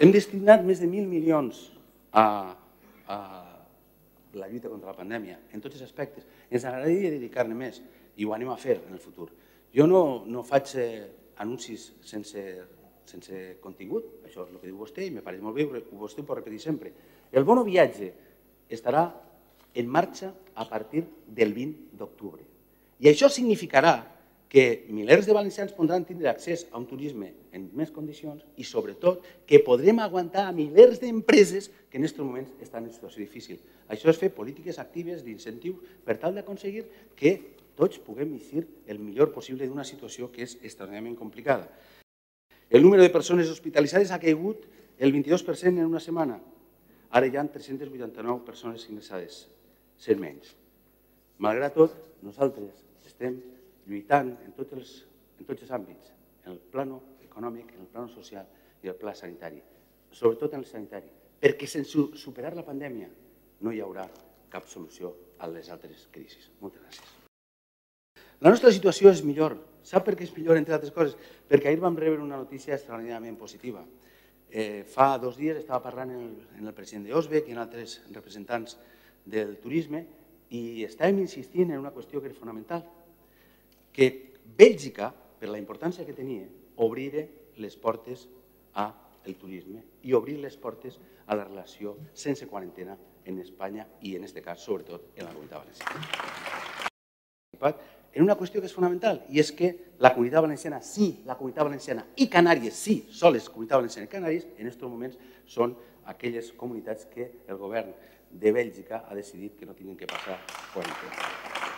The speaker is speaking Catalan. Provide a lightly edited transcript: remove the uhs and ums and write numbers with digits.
Hem destinat més de 1.000 milions a la lluita contra la pandèmia, en tots els aspectes. Ens agradaria dedicar-ne més i ho anem a fer en el futur. Jo no faig anuncis sense contingut, això és el que diu vostè i me pareix molt bé, vostè ho pot repetir sempre. El bono viatge estarà en marxa a partir del 20 d'octubre. I això significarà que milers de valencians podran tindre accés a un turisme en més condicions i, sobretot, que podrem aguantar a milers d'empreses que en aquests moments estan en situació difícil. Això és fer polítiques actives d'incentius per tal d'aconseguir que tots puguem eixir el millor possible d'una situació que és extraordinàriament complicada. El número de persones hospitalitzades ha caigut el 22% en una setmana. Ara hi ha 389 persones ingressades, 100 menys. Malgrat tot, nosaltres estem lluitant en tots els àmbits, en el plano econòmic, en el plano social i el pla sanitari, sobretot en el sanitari, perquè sense superar la pandèmia no hi haurà cap solució a les altres crisis. Moltes gràcies. La nostra situació és millor. Sap per què és millor, entre altres coses? Perquè ahir vam rebre una notícia extraordinàriament positiva. Fa 2 dies estava parlant amb el president d'Osbec i amb altres representants del turisme i estàvem insistint en una qüestió que és fonamental, que Bèlgica, per la importància que tenia, obrir les portes al turisme i obrir les portes a la relació sense quarantena en Espanya i, en aquest cas, sobretot, en la Comunitat Valenciana. En una qüestió que és fonamental, i és que la Comunitat Valenciana, sí, la Comunitat Valenciana i Canàries, sí, soles Comunitat Valenciana i Canàries, en aquests moments són aquelles comunitats que el govern de Bèlgica ha decidit que no tinguin que passar quarantena.